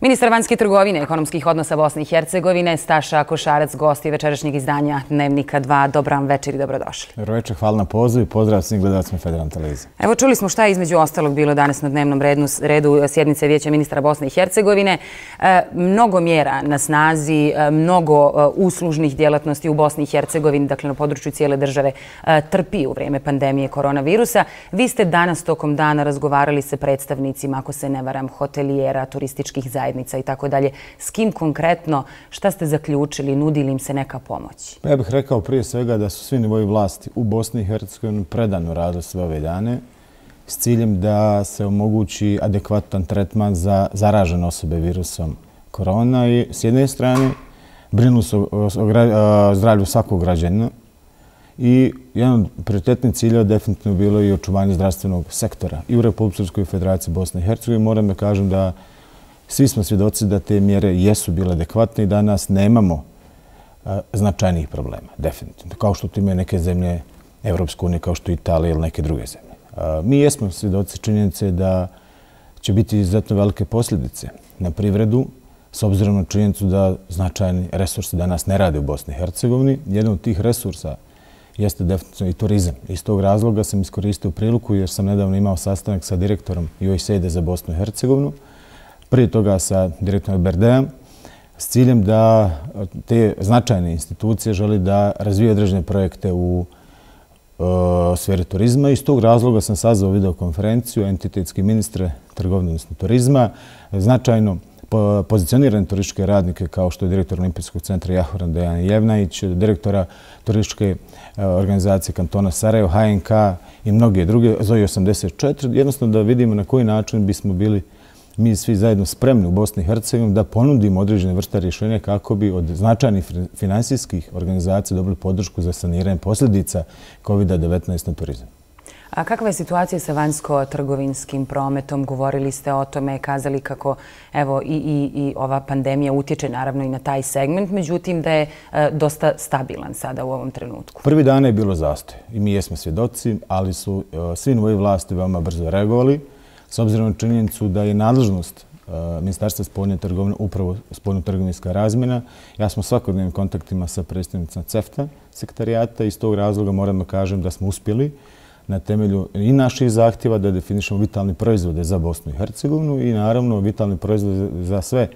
Ministar vanjske trgovine i ekonomskih odnosa Bosne i Hercegovine, Staša Košarac, gost je večerašnjeg izdanja Dnevnika 2. Dobar vam večer i dobrodošli. Dobro večer, hvala na pozivu i pozdrav svim gledalcima Federalne televizije. Evo, čuli smo šta je između ostalog bilo danas na dnevnom redu sjednice Vijeća ministra Bosne i Hercegovine. Mnogo mjera na snazi, mnogo uslužnih djelatnosti u Bosni i Hercegovini, dakle na području cijele države, trpi u vrijeme pandemije koronavirusa. Vi ste danas tokom dana razgovarali sa predstavnicima, ako se ne varam, hotelijera, turističkih zajednica i tako dalje. S kim konkretno, šta ste zaključili, nudi li im se neka pomoć? Ja bih rekao prije svega da su svi nivoji vlasti u Bosni i Hercegovini predano radili sve ove dane s ciljem da se omogući adekvatan tretman za zaražene osobe virusom korona i s jedne strane brinu se o zdravlju svakog građanina i jedan od prioritetnih ciljeva definitivno bilo i očuvanje zdravstvenog sektora i u Republičkoj federaciji Bosne i Hercegovine. Moram da kažem da svi smo svjedoci da te mjere jesu bile adekvatne i danas nemamo značajnijih problema, definitivno. Kao što to imaju neke zemlje Evropske unije, kao što je Italija ili neke druge zemlje. Mi jesmo svjedoci činjenice da će biti izuzetno velike posljedice na privredu, s obzirom na činjenicu da značajni resursi danas ne rade u Bosni i Hercegovini. Jedan od tih resursa jeste definitivno i turizam. Iz tog razloga sam iskoristio priliku jer sam nedavno imao sastanak sa direktorom USAID za Bosnu i Hercegovinu, prije toga sa direktorom Berdeom, s ciljem da te značajne institucije želi da razvije određene projekte u sferi turizma. Iz tog razloga sam sazvao videokonferenciju entitetski ministre trgovine, odnosno turizma, značajno pozicionirane turističke radnike kao što je direktor Olimpijskog centra Jahoran Dejan Jevnajić, direktora turističke organizacije kantona Sarajevo, HNK i mnoge druge, ZOI 84, jednostavno da vidimo na koji način bismo bili mi svi zajedno spremni u Bosni i Hercegovini da ponudimo određene vrste rješenja kako bi od značajnih finansijskih organizacija dobili podršku za saniranje posljedica COVID-19 na turizam. A kakva je situacija sa vanjsko-trgovinskim prometom? Govorili ste o tome, kazali kako evo, i ova pandemija utječe naravno i na taj segment, međutim da je dosta stabilan sada u ovom trenutku. Prvi dana je bilo zastoj i mi jesmo svjedoci, ali su svi nivoji vlasti veoma brzo reagovali. S obzirom na činjenicu da je nadležnost Ministarstva spoljne trgovine upravo spoljno-trgovinska razmjena, ja smo svakodnevnim kontaktima sa predstavnicima CEFTA sekretarijata i iz tog razloga moram da kažem da smo uspjeli na temelju i naših zahtjeva da definišemo vitalne proizvode za Bosnu i Hercegovinu i naravno vitalne proizvode za sve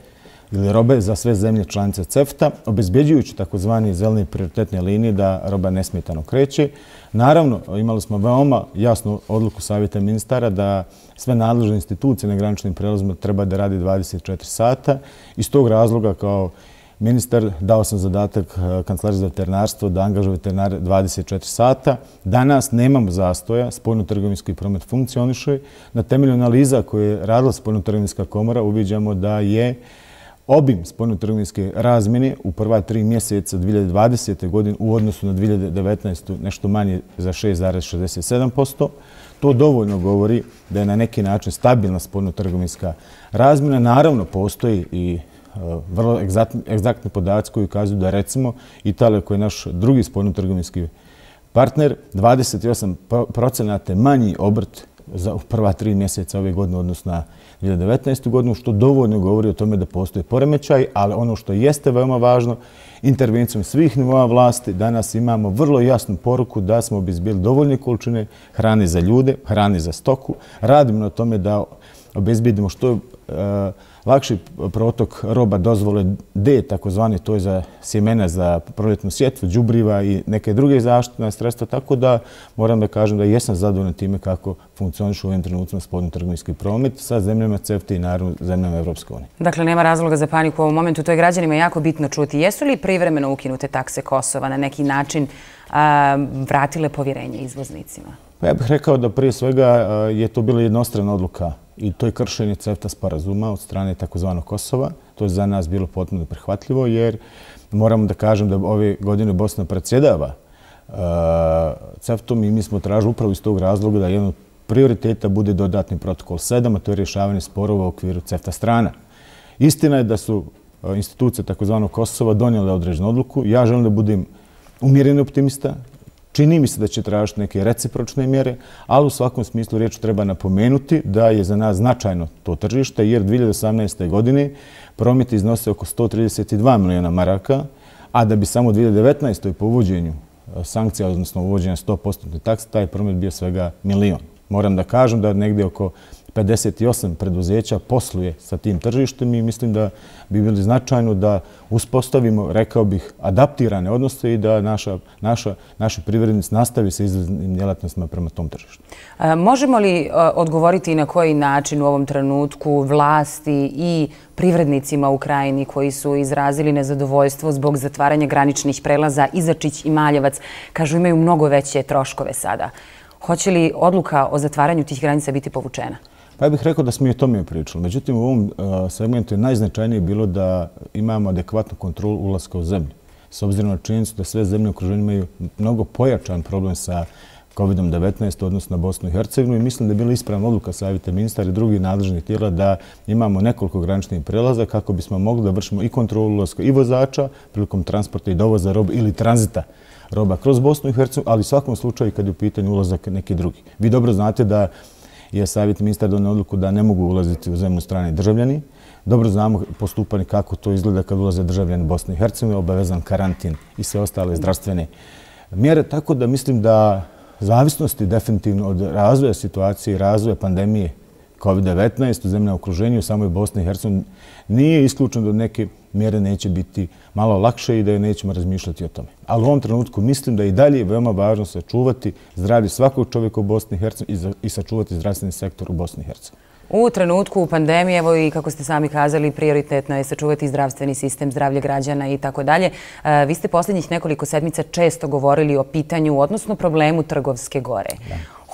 ili robe za sve zemlje članice CEFTA, obezbeđujući takozvani zelene prioritetne linije da roba nesmetano kreće. Naravno, imali smo veoma jasnu odluku Savjeta ministara da sve nadležne institucije na graničnim prelazima treba da radi 24 sata. Iz tog razloga kao ministar dao sam zadatak Kancelariji za veterinarstvo da angažuje veterinare 24 sata. Danas nemamo zastoja, spoljno-trgovinski promet funkcioniše. Na temelju analiza koje je radila spoljno-trgovinska komora uviđamo da je obim spoljno-trgovinske razmjene u prva 3 mjeseca 2020. godine u odnosu na 2019. nešto manje za 6,67%. To dovoljno govori da je na neki način stabilna spoljno-trgovinska razmjena. Naravno, postoji i vrlo egzaktni podaci koji ukazuju da recimo Italija, koja je naš drugi spoljno-trgovinski partner, 28% manji obrt za prva 3 mjeseca ove godine odnosno na 2019. godinu, što dovoljno govori o tome da postoje poremećaj, ali ono što jeste veoma važno, intervencijom svih nivoa vlasti danas imamo vrlo jasnu poruku da smo obezbijeli dovoljne količine hrane za ljude, hrane za stoku. Radimo na tome da obezbijedimo što lakši protok roba dozvole D, takozvani, to je za sjemena, za proljetnu sjetvu, đubriva i neke druge zaštitna sredstva, tako da moram da kažem da jesam zadovoljan time kako funkcioniše u ovim trenucima spoljno-trgovinski promet sa zemljama CEFTA i naravno zemljama Evropske unije. Dakle, nema razloga za paniku u ovom momentu, to je građanima jako bitno čuti. Jesu li privremeno ukinute takse Kosova na neki način vratile povjerenje izvoznicima? Pa ja bih rekao da prije svega je to bila jednostrana odluka i to je kršenje CEFTA sporazuma od strane takozvanog Kosova. To je za nas bilo potpuno prihvatljivo jer moramo da kažem da ove godine Bosna predsjedava CEFTA-om i mi smo tražili upravo iz tog razloga da jedan od prioriteta bude dodatni protokol 7, a to je rješavanje sporova u okviru CEFTA strana. Istina je da su institucije takozvanog Kosova donijele određenu odluku. Ja želim da budem umjereni optimista. Čini mi se da će tražiti neke recipročne mjere, ali u svakom smislu riječi treba napomenuti da je za nas značajno to tržište, jer 2018. godine promet iznose oko 132 milijuna maraka, a da bi samo u 2019. po uvođenju sankcija, odnosno uvođenja 100% takse, taj promet bio svega milion. Moram da kažem da negdje oko 58 preduzeća posluje sa tim tržištem i mislim da bi bilo značajno da uspostavimo, rekao bih, adaptirane odnose i da naši privrednici nastavi sa izvoznim djelatnostima prema tom tržištu. Možemo li odgovoriti na koji način u ovom trenutku vlasti i privrednicima u Krajini koji su izrazili nezadovoljstvo zbog zatvaranja graničnih prelaza Izačić i Maljevac, kažu imaju mnogo veće troškove sada? Hoće li odluka o zatvaranju tih granica biti povučena? Pa ja bih rekao da smo i o tome pričali. Međutim, u ovom segmentu je najznačajnije bilo da imamo adekvatnu kontrolu ulaska u zemlju. S obzirom na činjenicu da sve zemlje u okruženju imaju mnogo pojačan problem sa COVID-19, odnosno na Bosnu i Hercegovinu, i mislim da je bila ispravna odluka Savjeta ministara i drugih nadležnih tijela da imamo nekoliko graničnih prelaza kako bismo mogli da vršimo i kontrolu ulaska i vozača prilikom transporta i dovoza robe ili tranzita roba kroz Bosnu i Hercegovinu, ali u svakom slučaju kad je u pitanju ulazak neki drugi. Vi dobro znate da je Savjet ministara donio odluku da ne mogu ulaziti u zemlju strani državljani. Dobro znamo postupanje kako to izgleda kad ulaze državljani Bosne i Hercegovine, obavezan karantin i sve ostale zdravstvene mjere. Tako da mislim da zavisnosti definitivno od razvoja situacije i razvoja pandemije COVID-19 u zemljama okruženju, u samoj Bosni i Hercegovini, nije isključeno da neke mjere neće biti malo lakše i da nećemo razmišljati o tome. Ali u ovom trenutku mislim da je i dalje veoma važno sačuvati zdravlje svakog čovjeka u Bosni i Hercegovini i sačuvati zdravstveni sektor u Bosni i Hercegovini. U trenutku pandemije, evo i kako ste sami kazali, prioritetno je sačuvati zdravstveni sistem, zdravlje građana i tako dalje. Vi ste posljednjih nekoliko sedmica često govorili o pitanju, odnosno problemu Trgovske gore.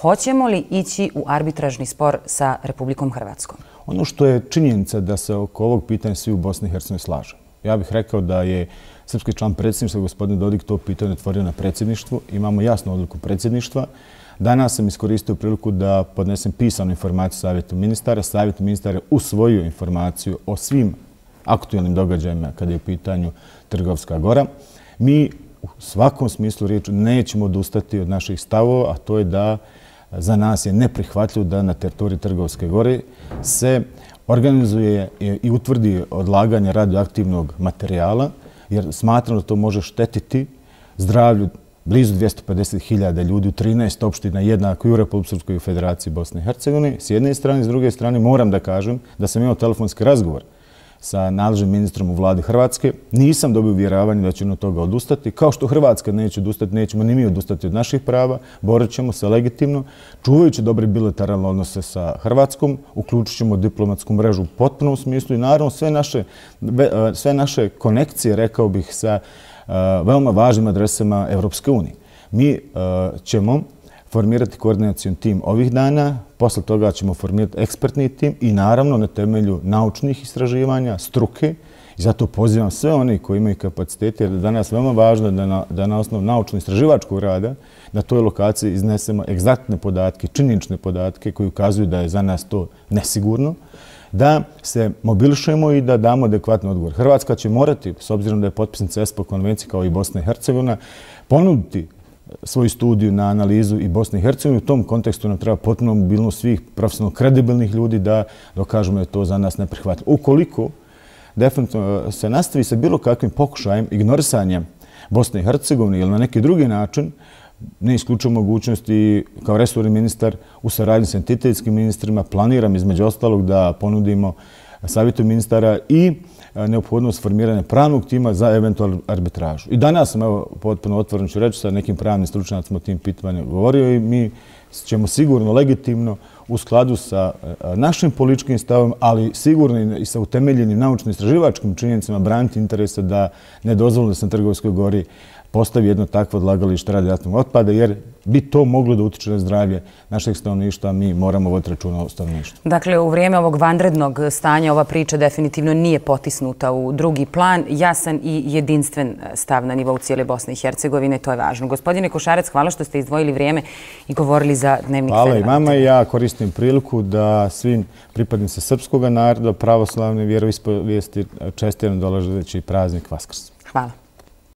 Hoćemo li ići u arbitražni spor sa Republikom Hrvatskom? Ono što je činjenica da se oko ovog pitanja svi u Bosni i Hercegovini slažu. Ja bih rekao da je srpski član predsjedništva, gospodin Dodik, to pitanje otvorio na predsjedništvu. Imamo jasnu odluku predsjedništva. Danas sam iskoristio priliku da podnesem pisanu informaciju Savjetu ministara. Savjet ministara je usvojio informaciju o svim aktualnim događajima kada je u pitanju Trgovska gora. Mi u svakom smislu riječi nećemo odustati od naših stavova, a to je da za nas je neprihvatljivo da na teritoriji Trgovske gore se organizuje i utvrdi odlaganje radioaktivnog materijala, jer smatram da to može štetiti zdravlju blizu 250.000 ljudi u 13 opština, jednako i u Republici Srpskoj i u Federaciji Bosne i Hercegovine. S jedne strane, s druge strane, moram da kažem da sam imao telefonski razgovor sa nadležnim ministrom u vladi Hrvatske. Nisam dobio uvjeravanje da će od toga odustati. Kao što Hrvatska neće odustati, nećemo ni mi odustati od naših prava. Borit ćemo se legitimno, čuvajući dobre bilateralne odnose sa Hrvatskom, uključit ćemo diplomatsku mrežu u potpunom smislu i naravno sve naše konekcije, rekao bih, sa veoma važnim adresama Evropske unije. Mi ćemo formirati koordinacijon tim ovih dana, posle toga ćemo formirati ekspertni tim i naravno na temelju naučnih istraživanja, struke, i zato pozivam sve one koji imaju kapacitete, jer je danas veoma važno da na osnovu naučno-istraživačkog rada na toj lokaciji iznesemo egzaktne podatke, činjenične podatke koji ukazuju da je za nas to nesigurno, da se mobilišemo i da damo adekvatni odgovor. Hrvatska će morati, s obzirom da je potpisnica ESPO konvencije kao i Bosna i Hercegovina, ponuditi svoju studiju na analizu i Bosne i Hercegovine. U tom kontekstu nam treba potpuno mobilnost svih profesionalno kredibilnih ljudi da dokažemo da je to za nas neprihvatljivo. Ukoliko definitivno se nastavi sa bilo kakvim pokušajem ignorisanja Bosne i Hercegovine ili na neki drugi način, ne isključujem mogućnosti kao resorni ministar u saradnji s entitetskim ministrima, planiram između ostalog da ponudimo Savjetu ministara i neophodnost formiranja pravnog tima za eventualnu arbitražu. I danas sam, evo, potpuno otvoreno ću reći, sa nekim pravnim stručnjacima o tim pitanjima govorio i mi ćemo sigurno legitimno u skladu sa našim političkim stavom, ali sigurno i sa utemeljenim naučno-istraživačkim činjenicama braniti interese da ne dozvolimo da se na Trgovskoj gori postavi jedno takvo odlagalište radioaktivnog otpada, jer bi to moglo da utiče na zdravlje našeg stanovništva, mi moramo voditi računa o stanovništvu. Dakle, u vrijeme ovog vanrednog stanja ova priča definitivno nije potisnuta u drugi plan. Jasan i jedinstven stav na nivou cijele Bosne i Hercegovine, to je važno. Gospodine Košarec, hvala što ste izdvojili vrijeme i govorili za Dnevnik Federalne. Hvala i vama i ja koristim priliku da svim pripadnicima srpskog naroda, pravoslavne vjeroispovijesti čestitam dolazeći praznik Vaskrs. Hvala.